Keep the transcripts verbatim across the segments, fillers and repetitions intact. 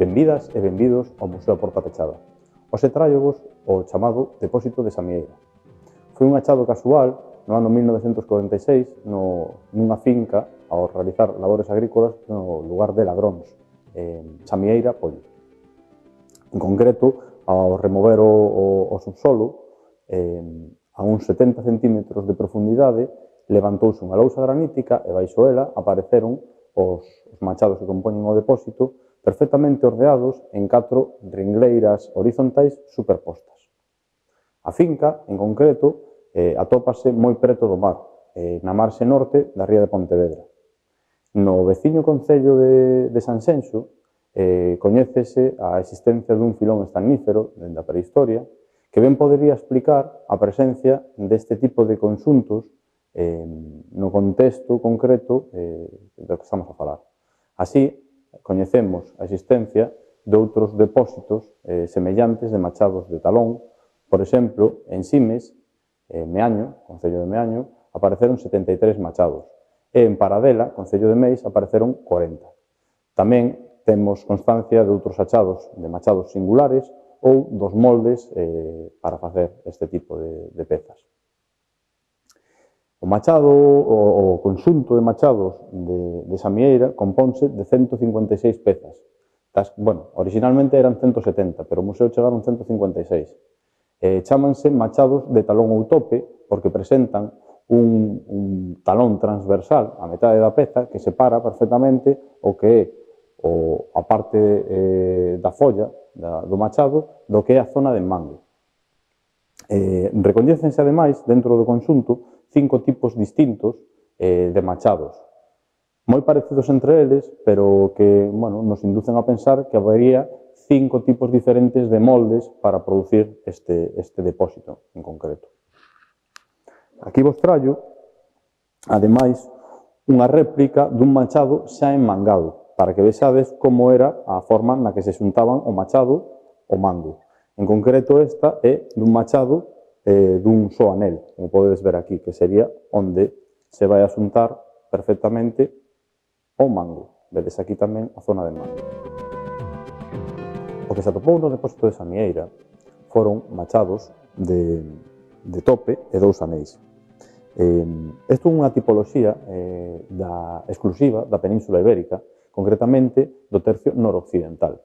Benvidas e benvidos ao Museo a Porta Pechada. Hoxe tráiovos o chamado Depósito de Samieira. Foi un achado casual no ano mil novecentos corenta e seis no, nunha finca ao realizar labores agrícolas no lugar de Ladróns, en Samieira, Poio. En concreto, ao remover o, o, o subsolo, eh, a uns setenta centímetros de profundidade, levantouse unha lousa granítica e baixo ela apareceron os, os machados que compoñen o depósito perfectamente ordeados en catro ringleiras horizontais superpostas. A finca, en concreto, eh, atópase moi preto do mar, eh, na marxe norte da ría de Pontevedra. No veciño concello de, de Sanxenxo eh, coñécese a existencia dun filón estanífero dende a prehistoria que ben podería explicar a presencia deste tipo de conxuntos eh, no contexto concreto eh, do que estamos a falar. Así, coñecemos a existencia de outros depósitos eh, semellantes de machados de talón. Por exemplo, en Simes, en Meaño, concello de Meaño, apareceron setenta e tres machados e en Paradela, concello de Meis, apareceron corenta. Tamén temos constancia de outros achados de machados singulares ou dos moldes eh, para facer este tipo de, de pezas. O machado, o, o conxunto de machados de, de Samieira compónse de ciento cincuenta e seis pezas. Tas, bueno, originalmente eran ciento setenta, pero o museo chegaron ciento cincuenta e seis. Eh, chámanse machados de talón ou tope porque presentan un, un talón transversal a metade da peza que separa perfectamente o que é o, a parte eh, da folla da, do machado do que é a zona de mango. Eh, recoñécense, ademais, dentro do conxunto, cinco tipos distintos eh, de machados, moi parecidos entre eles, pero que bueno, nos inducen a pensar que habería cinco tipos diferentes de moldes para producir este, este depósito en concreto. Aquí vos traio, ademais, unha réplica dun machado xa enmangado, para que vexades como era a forma na que se xuntaban o machado ao mango. En concreto, esta é dun machado eh, dun só anel, como podedes ver aquí, que sería onde se vai a xuntar perfectamente o mango. Vedes aquí tamén a zona de mango. O que se atopou no depósito de Samieira foron machados de, de tope e dous anéis. Eh, isto é unha tipoloxía eh, da, exclusiva da Península Ibérica, concretamente do tercio noroccidental.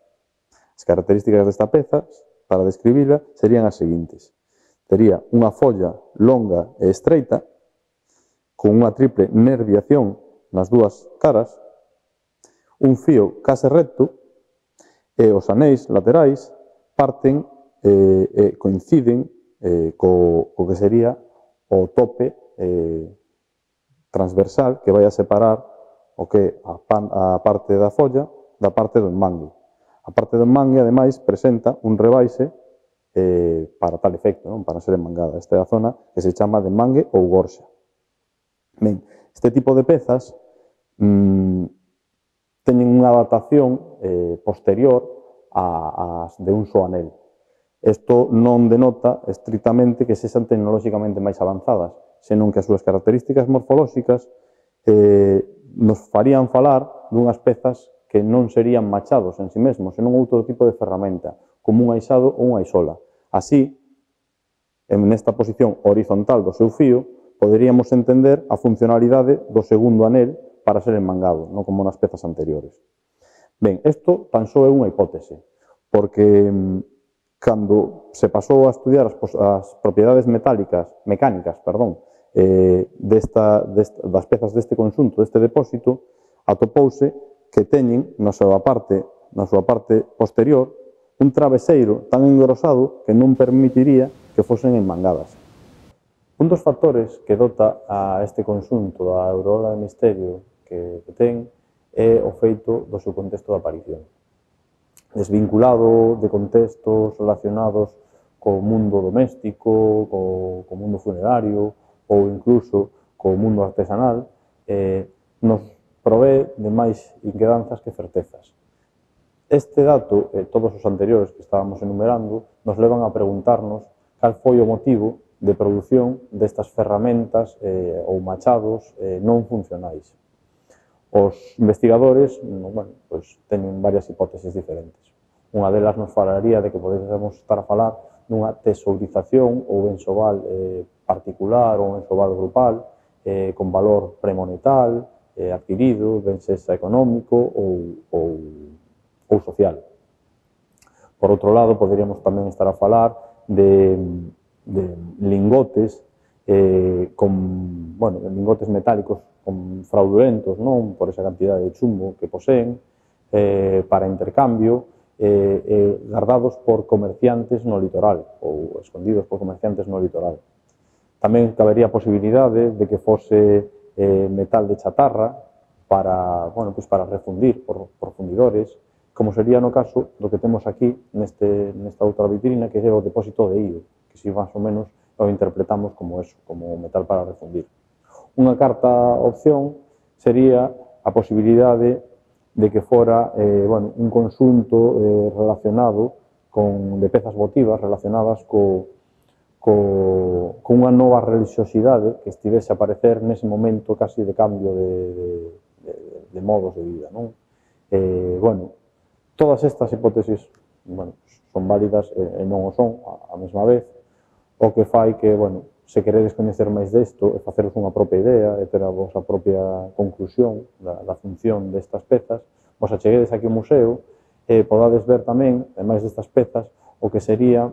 As características desta peza, para describila, serían as seguintes. Tería unha folla longa e estreita, con unha triple nerviación nas dúas caras, un fío case recto, e os anéis laterais parten e eh, eh, coinciden eh, co, co que sería o tope eh, transversal que vai a separar o que a, pan, a parte da folla da parte do mangue. A parte do mangue, ademais, presenta un rebaixe eh, para tal efecto, non? Para ser enmangada. Esta é a zona que se chama de mangue ou gorxa. Ben, este tipo de pezas mmm, teñen unha adaptación eh, posterior a, a de un só anel. Isto non denota estrictamente que sexan tecnolóxicamente máis avanzadas, senón que as súas características morfolóxicas eh, nos farían falar dunhas pezas que non serían machados en si mesmos, senón outro tipo de ferramenta, como un aixado ou unha aixola. Así, en esta posición horizontal do seu fío, poderíamos entender a funcionalidade do segundo anel para ser enmangado, non como nas pezas anteriores. Ben, isto tan só é unha hipótese, porque cando se pasou a estudiar as, as propiedades metálicas, mecánicas, perdón, eh, desta, desta, das pezas deste conxunto, deste depósito, atopouse que teñen na súa parte, na súa parte posterior un traveseiro tan engrosado que non permitiría que fosen enmangadas. Un dos factores que dota a este conxunto da aureola de misterio que, que ten é o feito do seu contexto de aparición. Desvinculado de contextos relacionados co mundo doméstico, co, co mundo funerario ou incluso co mundo artesanal, eh, nos provee de máis inquedanzas que certezas. Este dato e todos os anteriores que estábamos enumerando nos levan a preguntarnos cal foi o motivo de produción destas ferramentas eh, ou machados eh, non funcionais. Os investigadores bueno, pues, teñen varias hipótesis diferentes. Unha delas nos falaría de que podemos estar a falar dunha tesourización ou enxoval eh, particular ou enxoval grupal eh, con valor premonetal, eh, adquirido, ben sexa económico ou, ou, ou social. Por outro lado, poderíamos tamén estar a falar de, de lingotes eh, con, bueno, lingotes metálicos con fraudulentos, non? Por esa cantidad de chumbo que poseen, eh, para intercambio, eh, eh, guardados por comerciantes no litoral, ou escondidos por comerciantes no litoral. Tamén cabería a posibilidade de que fose eh, metal de chatarra para, bueno, pues para refundir por, por fundidores, como sería no caso do que temos aquí neste, nesta outra vitrina, que é o depósito de io, que si máis ou menos o interpretamos como eso, como metal para refundir. Unha carta opción sería a posibilidade de que fora eh, bueno, un conxunto eh, relacionado con, de pezas votivas relacionadas co, co, con unha nova religiosidade que estivese a aparecer nese momento casi de cambio de, de, de, de modos de vida, non? Eh, bueno, todas estas hipótesis bueno, son válidas e non o son a mesma vez, o que fai que, bueno, se queredes coñecer máis desto e faceros unha propia idea e ter a vosa propia conclusión da, da función destas pezas, vos acheguedes aquí ao museo e podades ver tamén, ademais destas pezas, o que sería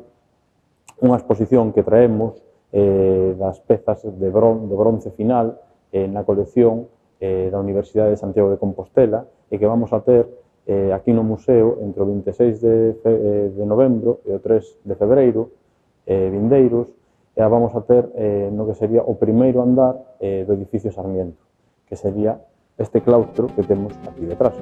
unha exposición que traemos eh, das pezas de, bron, de bronce final eh, na colección eh, da Universidade de Santiago de Compostela e que vamos a ter eh, aquí no museo entre o vinte e seis de, fe, de novembro e o tres de febreiro eh, vindeiros, e a vamos a ter eh, no que sería o primeiro andar eh, do edificio Sarmiento, que sería este claustro que temos aquí detrás.